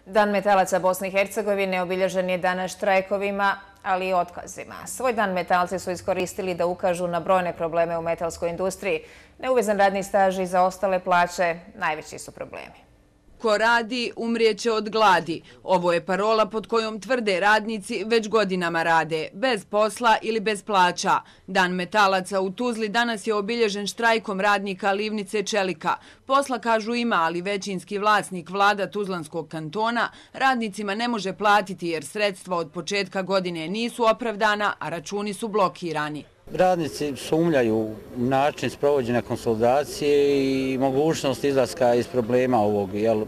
Dan metalaca Bosne i Hercegovine obilježen je danas štrajkovima, ali i otkazima. Svoj dan metalci su iskoristili da ukažu na brojne probleme u metalskoj industriji. Neuvezan radni staž i zaostale plaće najveći su problemi. Ko radi, umrijeće od gladi. Ovo je parola pod kojom tvrde radnici već godinama rade, bez posla ili bez plaća. Dan metalaca u Tuzli danas je obilježen štrajkom radnika livnice čelika. Posla, kažu, ima, ali većinski vlasnik vlada Tuzlanskog kantona radnicima ne može platiti jer sredstva od početka godine nisu opravdana, a računi su blokirani. Radnici sumnjaju u način sprovođenja konsolidacije i mogućnost izlaska iz problema ovog. Jer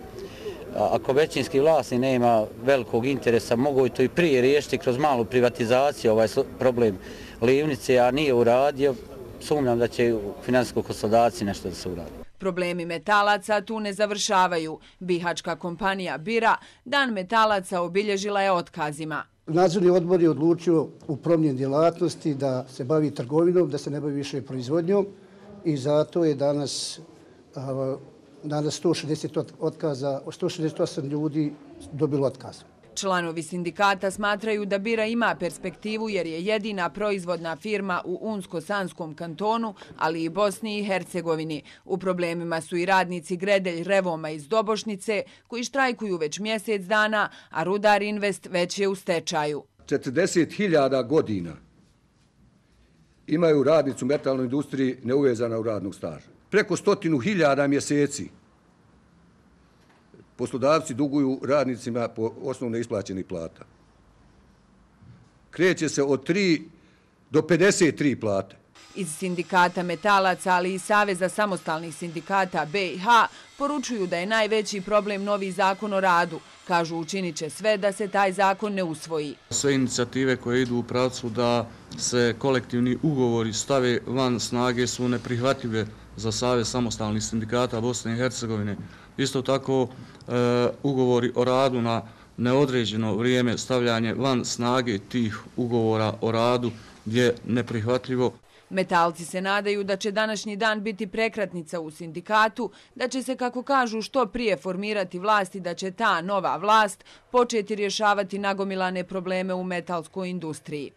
ako većinski vlasnik nema velikog interesa, mogu to i prije riješiti kroz malu privatizaciju ovaj problem livnice, a nije uradio. Sumnjam da će u finansijskoj konsolidaciji nešto da se uradi. Problemi metalaca tu ne završavaju. Bihačka kompanija Bira Dan metalaca obilježila je otkazima. Nadzorni odbor je odlučio u promjeni djelatnosti da se bavi trgovinom, da se ne bavi više proizvodnjom i zato je danas 160 otkaza, 168 ljudi dobilo otkaz. Članovi sindikata smatraju da Bira ima perspektivu jer je jedina proizvodna firma u Unsko-Sanskom kantonu, ali i Bosni i Hercegovini. U problemima su i radnici Gredelj Revoma iz Dobošnice, koji štrajkuju već mjesec dana, a Rudar Invest već je u stečaju. 40.000 godina imaju radnici u metalnoj industriji neuvezana u radnog staža. Preko 100.000 mjeseci poslodavci duguju radnicima po osnovu neisplaćenih plata. Kreće se od 3 do 53 plate. Iz sindikata metalaca, ali i Saveza samostalnih sindikata BiH, poručuju da je najveći problem novi zakon o radu. Kažu, učinit će sve da se taj zakon ne usvoji. Sve inicijative koje idu u pravcu da se kolektivni ugovori stave van snage su neprihvatljive za Savez samostalnih sindikata Bosne i Hercegovine. Isto tako, ugovori o radu na neodređeno vrijeme, stavljanje van snage tih ugovora o radu je neprihvatljivo. Metalci se nadaju da će današnji dan biti prekretnica u sindikatu, da će se, kako kažu, što prije formirati vlast i da će ta nova vlast početi rješavati nagomilane probleme u metalskoj industriji.